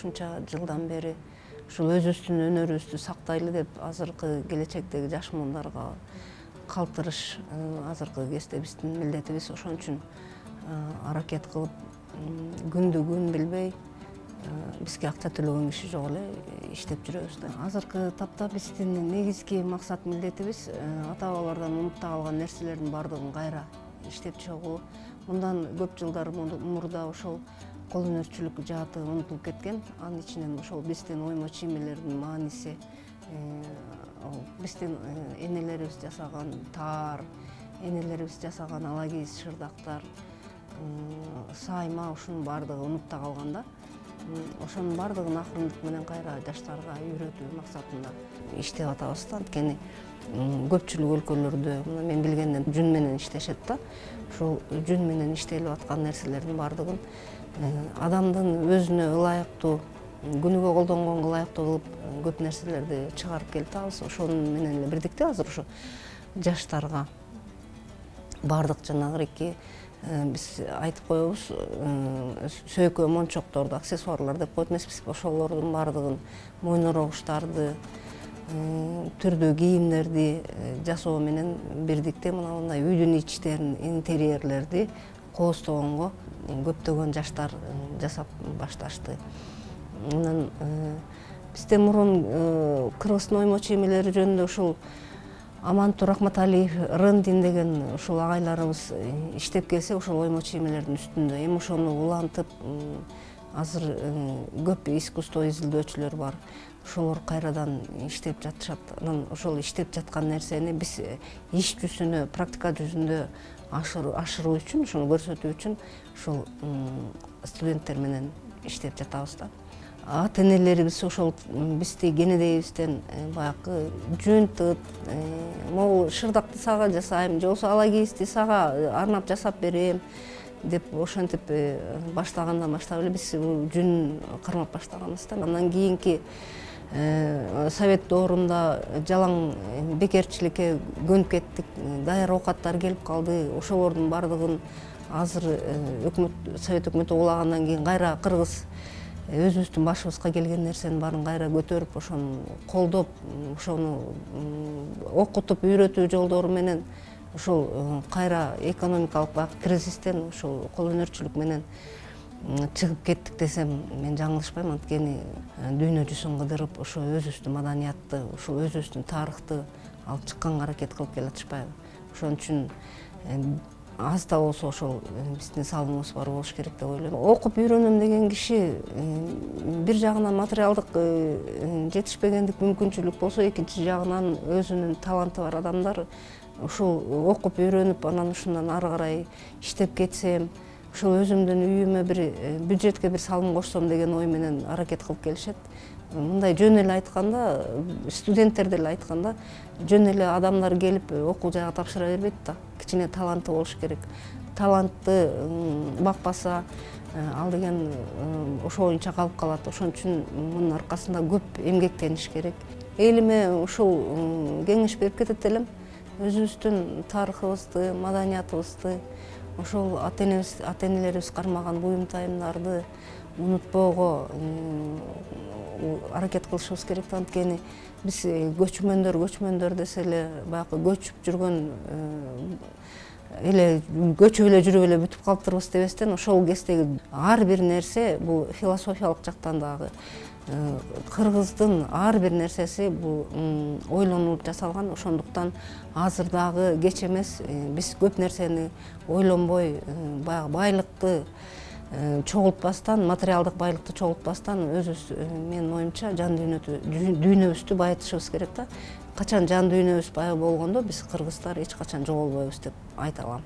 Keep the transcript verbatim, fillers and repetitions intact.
ушунча жылдан бери ушул өзүбүздүн өнөрүбүздү сактайлы деп азыркы келечектеги жаш муундарга калтырыш азыркы кезде биздин милдетибиз. Ошон үчүн аракет кылып күндү күн билбей бизге акча төлөгөн киши жок эле иштеп жүрөбүз да. Азыркы тапта биздин негизги максат милдетибиз ата бабалардан унутта калган нерселердин баардыгын кайра иштеп чыгуу. Мындан көп жылдар мурда ошол кол өнөрчүлүк жааты унутулуп кеткен. Анын ичинен ошол биздин оймо чиймелердин мааниси, биздин энелерибиз жасаган таар, энелерибиз жасаган ала кийиз шырдактар, сайма, ушунун баардыгы унутта калган да. Ошонун баардыгын акырындык менен кайра жаштарга үйрөтүү максатында иштеп атабыз да. Анткени көпчүлүк өлкөлөрдө мен билгенден жүн менен иштешет да. Ушул жүн менен иштелип аткан нерселердин баардыгын адамдын өзүнө ылайыктуу, күнүгө колдонгонго ылайыктуу кылып көп нерселерди чыгарып келатабыз. Ошону менен эле бирдикте азыр ошо жаштарга баардык жанагырики биз айтып коебуз, сөйкө мончокторду, аксессуарлар деп коет эмеспиз. Ошолордун баардыгын, мойнорогуштарды, түрдүү кийимдерди жасоо менен бирдикте мына мындай үйдүн ичтерин, интерьерлерди кооздогонго көптөгөн жаштар жасап башташты. Анан бизде мурун кыргыздын оймо чиймелери жөнүндө ушул Аманту Рахматалиев, Рындин деген ушул агайларыбыз иштеп келсе, ошол оймо чиймелердин үстүндө эми ошону улантып, азыр көп искусство изилдөөчүлөр бар. Ошолор кайрадан иштеп жатышат. Анан ошол иштеп жаткан нерсени биз иш жүзүнө, практика жүзүндө ашыруу үчүн, ошону көрсөтүү үчүн ушул студенттер менен иштеп жатабыз да. Ата энелерибиз ошол бизди кенедейибизден баягы жүн тыт, могул шырдакты сага жасайм, же болбосо ала кийизди сага арнап жасап берем деп ошентип баштагандан баштап эле биз жүн кармап баштаганбыз да. Андан кийинки совет доорунда жалаң бекерчиликке көнүп кеттик, даяр оокаттар келип калды. Ошолордун баардыгын азыр өкмөт, совет өкмөтү угулагандан кийин кайра кыргыз өзүбүздүн башыбызга келген нерсенин баарын кайра көтөрүп, ошону колдоп, ошону окутуп, үйрөтүү жолдору менен ошол кайра экономикалык кризистен ошол кол өнөрчүлүк менен чыгып кеттик десем мен жаңылышпайм. Анткени дүйнө жүзүн кыдырып, ошо өзүбүздүн маданиятты, ошол өзүбүздүн тарыхты алып чыкканга аракет кылып келатышпайбы. Ошон үчүн аз да болсо ошол биздин салымыбыз бар болуш керек деп ойлойм. Окуп үйрөнөм деген киши бир жагынан материалдык жетишпегендик мүмкүнчүлүк болсо, экинчи жагынан өзүнүн таланты бар адамдар ушул окуп үйрөнүп, анан ушундан ары карай иштеп кетсем, ошол өзүмдүн үйүмө бир бюджетке бир салым кошсом деген ой менен аракет кылып келишет. Мындай жөн эле айтканда, студенттер деле айтканда, жөн эле адамдар келип окуу жайга тапшыра бербейт да. Кичине таланты болуш керек. Талантты бакпаса, ал деген ошо боюнча калып калат. Ошон үчүн мунун аркасында көп эмгектениш керек. Элиме ушул кеңеш берип кетет элем. Өзүбүздүн тарыхыбызды, маданиятыбызды, ошол ата энелерибиз кармаган буюм-тайымдарды унутпоого аракет кылышыбыз керек. Анткени биз көчмөндөр, көчмөндөр десе эле баягы көчүп жүргөн эле көчүп эле жүрүп эле бүтүп калыптырбыз дебестен, ошол кездеги ар бир нерсе бул философиялык жактан дагы кыргыздын ар бир нерсеси бул ойлонуп жасалган. Ошондуктан азыр дагы кеч эмес, биз көп нерсени ойлонбой, баягы байлыкты чогултпастан, материалдык байлыкты чогултпастан өзүбүз, менин оюмча, жан дүйнөбүздү байытышыбыз керек да. Качан жан дүйнөбүз бай болгондо биз кыргыздар эч качан жоголбойбуз деп айта алам.